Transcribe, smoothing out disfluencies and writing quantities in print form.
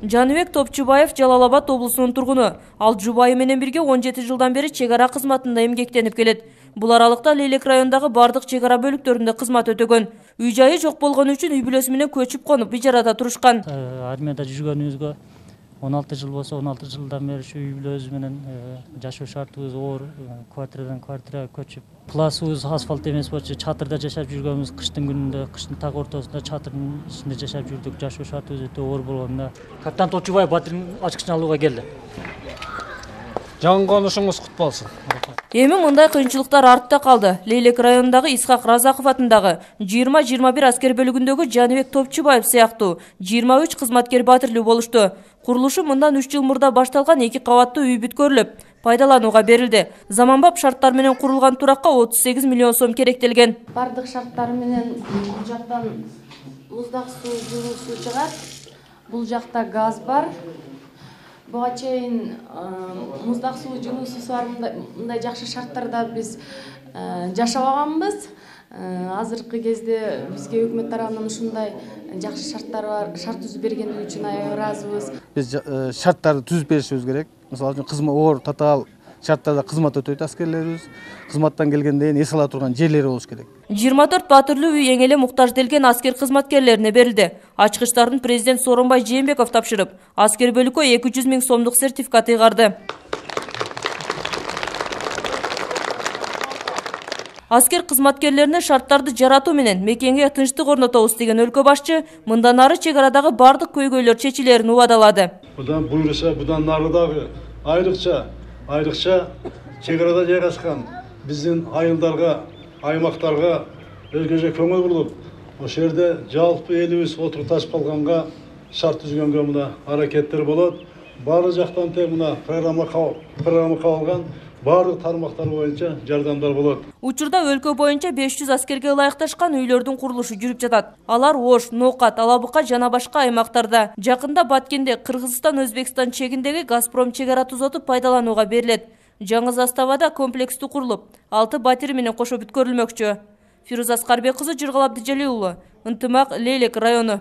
Жаныбек Топчубаев Жалал Абад облусунун тургуну. Ал жубайы менен бирге 17 жылдан бери чек ара кызматында эмгектенип келет. Бул аралыкта Лейлек районундагы бардык чек ара бөлүктөрүндө кызмат өтөгөн. Үй жайы жок болгону үчүн үй бүлөсү менен көчүп конуп ижарада турушкан. Армияда жүргөнүбүзгө 16 жыл болсо, 16 жылдан бери ушу үй бүлөбүз менен жашоо шартыбыз оор, квартирадан квартирага көчүп. Пласыбыз асфальт эмес болчу, чатырда жашап жүргөнбүз. Кыштын күнүндө, кыштын так ортосунда чатырдын ичинде жашап жүрдүк. Жашоо шартыбыз өтө оор болгондо капитан Топчубаев батирдин ачкычын алууга келди. Жаңы конушуңуз кут болсун. Эми мындай кыйынчылыктар артта калды. Лейлек районундагы Исхак Разаков атындагы 20-21 аскер бөлүгүндөгү Жаныбек Топчубаев сыяктуу 23 кызматкер батирлүү болушту. Курулушу мындан 3 жыл мурда башталган 2 кабаттуу үй бүткөрүлүп, пайдаланууга берилди. Заманбап шарттар менен курулган туракка 38 миллион сом керектелген. Бардык шарттар менен бул жактан муздак суу, жылуу суу чыгат. Бул жакта газ бар. Буга чейин муздак суу, жылуу суу бар, мындай жакшы шарттарда биз жашабаганбыз. Азыркы кезде бизге өкмөт тарабынан ушундай жакшы шарттар бар, шарт түзүп бергендиги үчүн аябай ыраазыбыз. Биз шарттарды түзүп беришибиз керек. Мисалы үчүн кызмат оор татаал шарттарда кызмат өтөйт аскерлерибиз. Кызматтан келгенден кийин эс ала турган жерлери болуш керек. 24 батирлүү үй эң эле муктажделген аскер кызматкерлерине берилди. Ачкычтарын президент Сооронбай Жээнбеков тапшырып, аскер бөлүккө 200 000 сомдук сертификат ыйгарды. Аскер кызматкерлерине шарттарды жаратуу менен мекенге тынчтык орнотобуз деген өлкө башчы мындан ары чек арадагы бардык көйгөйлөр чечилерин убадалады. Будан буйруса, будан нарыдагы айрыкча чек арада жайгашкан биздин айылдарга, аймактарга өзгөчө көңүл буруп, ошол жерде жалпы элибиз отурукташып калганга шарт түзгөнгө мына аракеттер болот. Баары жактан мына программа кабылган баардык тармактар боюнча жардамдар болот. Учурда өлкө боюнча 500 аскерге ылайыкташкан үйлөрдүн курулушу жүрүп жатат. Алар Ош, Ноокат, Алабыка жана башка аймактарда. Жакында Баткенде Кыргызстан-Өзбекстан чегиндеги Газпром чек ара тузоту пайдаланууга берилет. Жаңы заставада комплекстүү курулуп, 6 батир менен кошо бүткөрүлмөкчү. Фируза Аскарбек кызы, Жыргал Абдыжалил уулу, Ынтымак, Лейлек району.